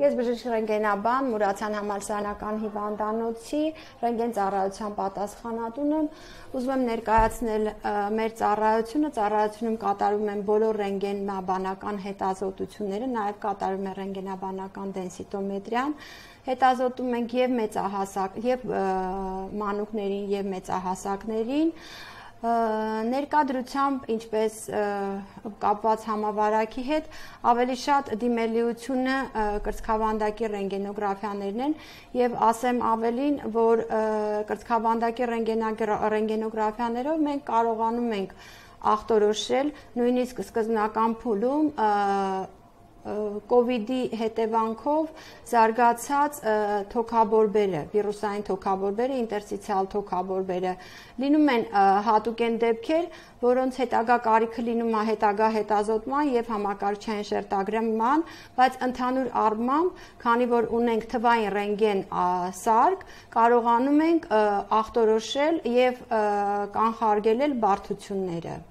Ես բժիշկ ռենտգենաբան Մուրացյան համալսարանական հիվանդանոցի ռենտգեն ծառայության պատասխանատուն եմ։ Ուզում եմ ներկայացնել մեր ծառայությունում կատարում են բոլոր ռենտգենաբանական հետազոտությունները, նաև կատարում են ռենտգենաբանական դենսիտոմետրիան, հետազոտում ենք եւ մեծահասակ եւ մանուկներին եւ մեծահասակներին, ներկայությամբ ինչպես կապված համավարակի հետ ավելի շատ դիմելիությունը կրծքավանդակի ռենտգենոգրաֆիաներն են եւ ասեմ ավելին, որ կրծքավանդակի ռենտգենոգրաֆիաներով մենք կարողանում ենք ախտորոշել նույնիսկ սկզբնական փուլում COVID-ի հետևանքով զարգացած թոքաբորբերը, վիրուսային թոքաբորբերը, ինտերստիցիալ թոքաբորբերը լինում են հատուկ են դեպքեր, որոնց հետագա կարիքը լինում է հետագա հետազոտման եւ համակարգչային շերտագրման, բայց ընդհանուր առմամբ, քանի որ ունենք թվային ռենտգեն սարք, կարողանում ենք ախտորոշել եւ կանխարգելել բարդությունները։